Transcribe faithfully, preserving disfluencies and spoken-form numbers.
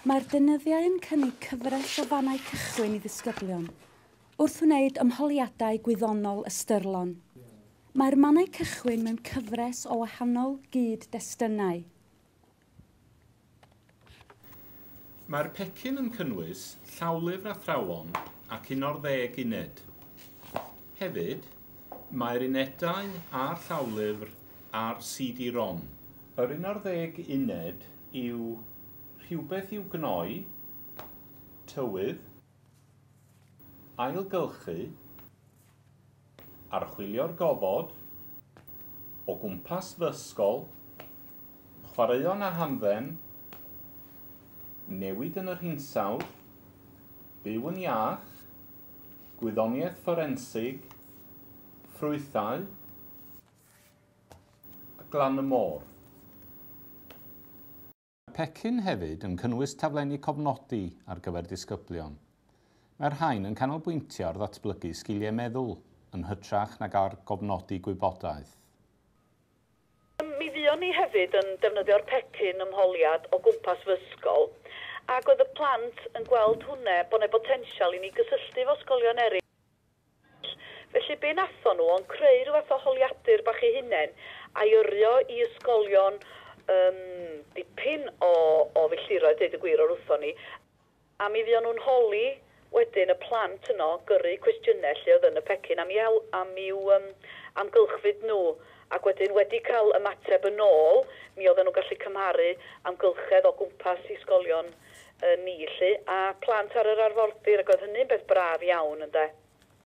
Mae'r deunyddiau yn cynnig cyfres o fannau cychwyn i ddisgyblion wrth wneud ymholiadau gwyddonol ystyrlon. Mae'r mannau cychwyn mewn cyfres o wahanol gyd-destunau. Mae'r pecyn yn cynnwys llawlyfr athrawon ac un o'r ddeg uned. Hefyd, mae'r unedau a'r llawlyfr a'r C D ROM. Yr un o'r ddeg uned yw rhywbeth i'w gnoi, tywydd, ailgylchu, archwilio'r gofod, o gwmpas fy ysgol, chwaraeon a hamdden, newid yn yr hinsawdd, byw yn iach, gwyddoniaeth fforensig, ffrwythau, a glan y môr. Mae'r pecyn hefyd yn cynnwys taflenni cofnodi ar gyfer disgyblion. Mae'r rhain yn canolbwyntio ar ddatblygu sgiliau meddwl yn hytrach nag ar gofnodi gwybodaeth. Mi fuon ni hefyd yn defnyddio'r pecyn ymholiad o gwmpas fy ysgol, ac oedd y plant yn gweld hwnna bod 'na botensial i ni gysylltu efo ysgolion eraill. Felly be nathon nhw ond creu rhyw fath o holiadur bach eu hunain a'i yrru i ysgolion um, dipyn o, o filltiroedd, deud y gwir, o'r wrthon ni. A mi fuon nhw'n holi wedyn y plant yno gyrru cwestiynau lle oedd yn y pecyn am i'w, am i'w um, amgylchfyd nhw. Ac wedyn wedi cael ymateb yn ôl, mi oedden nhw'n gallu cymharu amgylchedd o gwmpas ysgolion uh, ni lly, a plant ar yr arfordir, ac oedd hynny'n beth braf iawn, ynde.